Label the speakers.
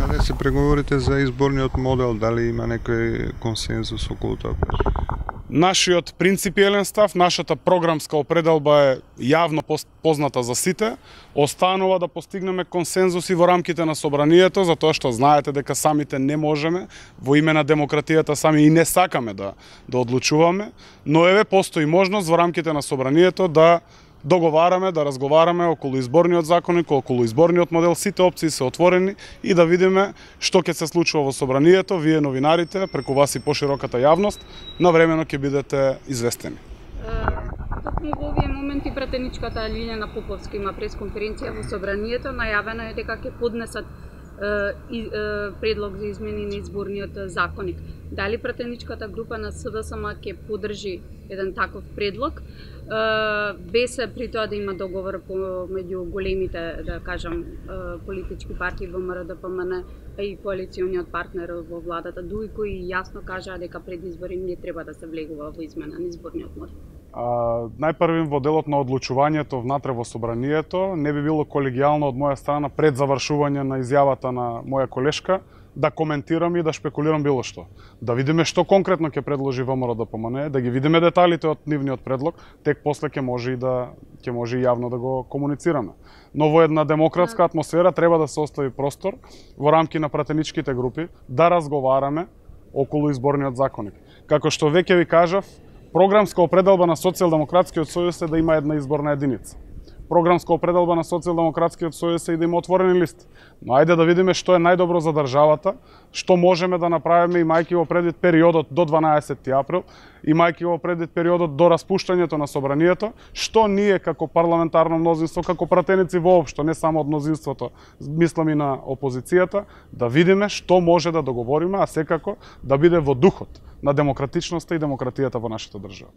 Speaker 1: Каде се преговорите за изборниот модел, дали има некој консензус околу тоа?
Speaker 2: Нашиот принципиелен став, нашата програмска определба е јавно позната за сите. Останува да постигнеме консензуси во рамките на собранието, затоа што знаете дека самите не можеме, во име на демократијата сами и не сакаме да одлучуваме, но еве постои можност во рамките на собранието да договараме, да разговараме околу изборниот законник, околу изборниот модел, сите опции се отворени и да видиме што ќе се случува во собранието. Вие новинарите, преку вас и пошироката јавност, навремено ќе бидете известени.
Speaker 3: Токму во овие моменти пратеничката Лиљана Поповска има пресконференција во собранието, најавено е дека ќе поднесат предлог за измени на изборниот законник. Дали пратеничката група на СДСМ ќе поддржи еден таков предлог, без при тоа да има договор меѓу големите, да кажам, политички партии ВМРО, ДПМН и коалициониот партнер во владата, дуи кои јасно кажаа дека пред избори не треба да се влегува во измена на изборниот модел?
Speaker 2: Најпрвим во делот на одлучувањето внатре во собранието не би било колегијално од моја страна пред завршување на изјавата на моја колешка да коментирам и да шпекулирам било што. Да видиме што конкретно ќе предложи ВМРО ДПМН, да ги видиме деталите од нивниот предлог, тек после ќе може и јавно да го комуницираме. Но во една демократска атмосфера треба да се остави простор во рамки на пратеничките групи да разговараме околу изборниот законник. Како што веќе ви кажав, програмска определба на Социјалдемократскиот сојуз е да има една изборна единица. Програмска определба на Социјалдемократскиот сојуз е и да има отворени листи. Но ајде да видиме што е најдобро за државата, што можеме да направиме имајќи во предвид периодот до 12 април, имајќи во предвид периодот до распуштањето на собранието, што ние како парламентарно мнозинство, како пратеници воопшто, не само од мнозинството, мислам и на опозицијата, да видиме што може да договориме, а секако да биде во духот на демократичноста и демократијата во нашата држава.